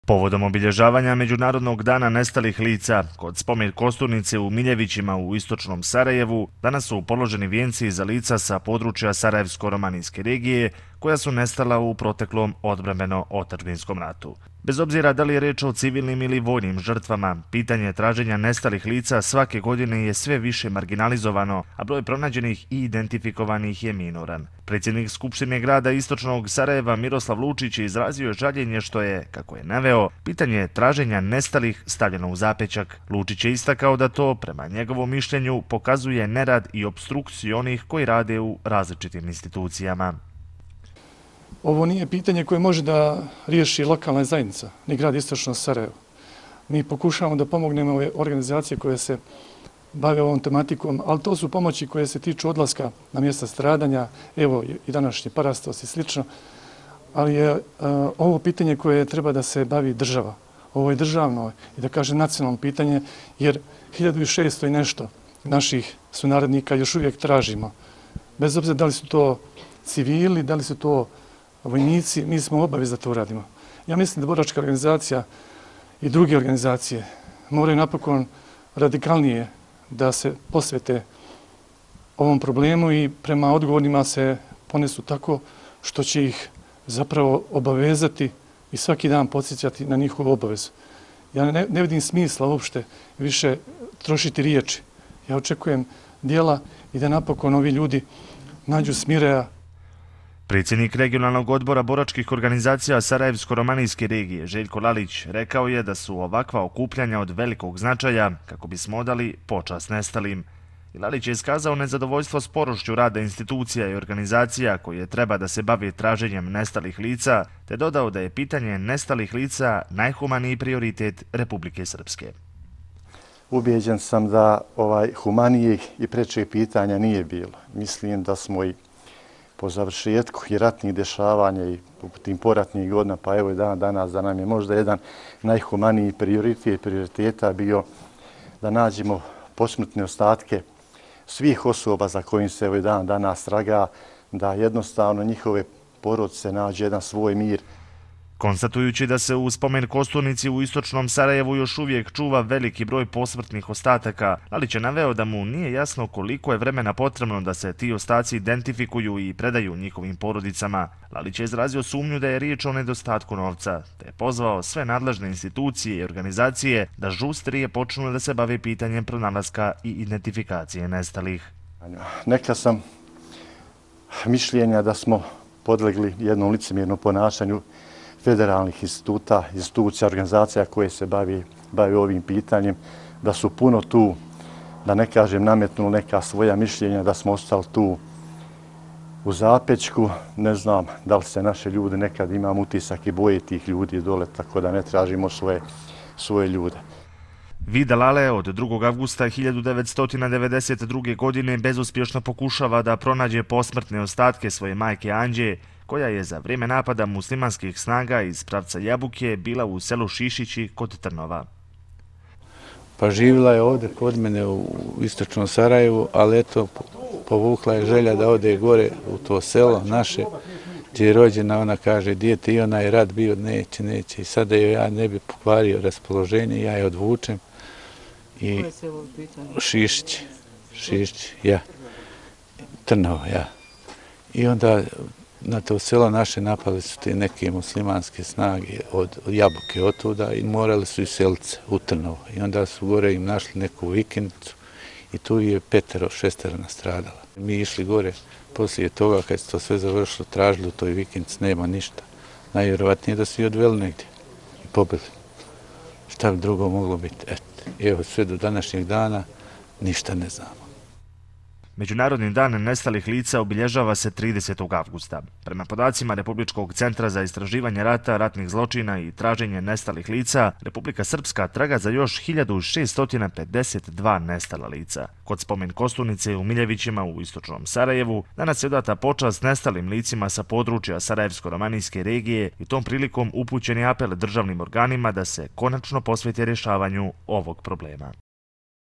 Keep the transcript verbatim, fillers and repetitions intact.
Povodom obilježavanja Međunarodnog dana nestalih lica kod spomen kosturnice u Miljevićima u istočnom Sarajevu danas su položeni vijenci za lica sa područja Sarajevsko-romanijske regije koja su nestala u proteklom odbrambeno-otadžbinskom ratu. Bez obzira da li je reč o civilnim ili vojnim žrtvama, pitanje traženja nestalih lica svake godine je sve više marginalizovano, a broj pronađenih i identifikovanih je minoran. Predsjednik Skupštine grada istočnog Sarajeva Miroslav Lučić izrazio je žaljenje što je, kako je naveo, pitanje traženja nestalih stavljeno u zapećak. Lučić je istakao da to, prema njegovom mišljenju, pokazuje nerad i opstrukciju onih koji rade u različitim institucijama. Ovo nije pitanje koje može da riješi lokalna zajednica, ni grad istočno Sarajevo. Mi pokušavamo da pomognemo ove organizacije koje se bave ovom tematikom, ali to su pomoći koje se tiču odlaska na mjesta stradanja, evo i današnji parastos i slično, ali je uh, ovo pitanje koje treba da se bavi država. Ovo je državno i da kaže nacionalno pitanje, jer hiljadu šesto i nešto naših sunarodnika još uvijek tražimo. Bez obzira da li su to civili, da li su to vojnici, mi smo obavez da to uradimo. Ja mislim da boračka organizacija i druge organizacije moraju napokon radikalnije da se posvete ovom problemu i prema odgovornima se ponesu tako što će ih zapravo obavezati i svaki dan podsjećati na njihovu obavezu. Ja ne, ne vidim smisla uopšte više trošiti riječi. Ja očekujem dijela i da napokon ovi ljudi nađu smireja. Predsjednik regionalnog odbora boračkih organizacija Sarajevsko-romanijske regije Željko Lalić rekao je da su ovakva okupljanja od velikog značaja kako bismo odali počast nestalim. I Lalić je iskazao nezadovoljstvo sporošću rada institucija i organizacija koje treba da se bave traženjem nestalih lica, te dodao da je pitanje nestalih lica najhumaniji prioritet Republike Srpske. Ubijeđen sam da ovaj humanijih i prečih pitanja nije bilo. Mislim da smo i po završetku i ratnih dešavanja i u tim poratnih godina, pa evo i dan danas da nam je možda jedan najhumaniji prioritet prioriteta bio da nađemo posmrtne ostatke svih osoba za kojim se evo i dan danas traga, da jednostavno njihove porodice nađe jedan svoj mir. Konstatujući da se u spomen kosturnici u istočnom Sarajevu još uvijek čuva veliki broj posmrtnih ostataka, Lalić je naveo da mu nije jasno koliko je vremena potrebno da se ti ostaci identifikuju i predaju njihovim porodicama. Lalić je izrazio sumnju da je riječ o nedostatku novca, te je pozvao sve nadležne institucije i organizacije da žustrije počnu da se bave pitanjem pronalaska i identifikacije nestalih. Neka sam mišljenja da smo podlegli jednom licemjernom ponašanju federalnih instituta, institucija, organizacija koje se bavi, bavi ovim pitanjem, da su puno tu, da ne kažem nametnuli neka svoja mišljenja, da smo ostali tu u zapećku. Ne znam da li se naše ljude nekad imam utisak i boje tih ljudi dole, tako da ne tražimo svoje, svoje ljude. Vida Lale od drugog avgusta hiljadu devetsto devedeset druge. godine bezuspješno pokušava da pronađe posmrtne ostatke svoje majke Anđe, koja je za vrijeme napada muslimanskih snaga iz pravca Jabuke bila u selu Šišići kod Trnova. Pa živjela je ovdje kod mene u istočnom Sarajevu, ali eto, povukla je želja da ode gore u to selo naše, gdje je rođena. Ona kaže, dijete, i onaj rat bio, neće, neće. I sada joj ja ne bi pokvario raspoloženje, ja je odvučem. I Šišić, Šišić, ja, Trnovo, ja. I onda na to selo naše napali su te neke muslimanske snage od Jabuke otuda i morali su iseliti se u Trnovo. I onda su gore im našli neku vikendicu i tu je petero, šestero nastradala. Mi išli gore poslije toga kad se to sve završilo, tražili u toj vikendici, nema ništa. Najvjerovatnije da su i odveli negdje i pobili. Šta bi drugo moglo biti? Eto, evo sve do današnjeg dana ništa ne znamo. Međunarodni dan nestalih lica obilježava se tridesetog avgusta. Prema podacima Republičkog centra za istraživanje rata, ratnih zločina i traženje nestalih lica, Republika Srpska traga za još hiljadu šesto pedeset dva nestala lica. Kod spomen kosturnice u Miljevićima u istočnom Sarajevu danas je odata počast nestalim licima sa područja Sarajevsko-romanijske regije i tom prilikom upućen je apel državnim organima da se konačno posvete rješavanju ovog problema.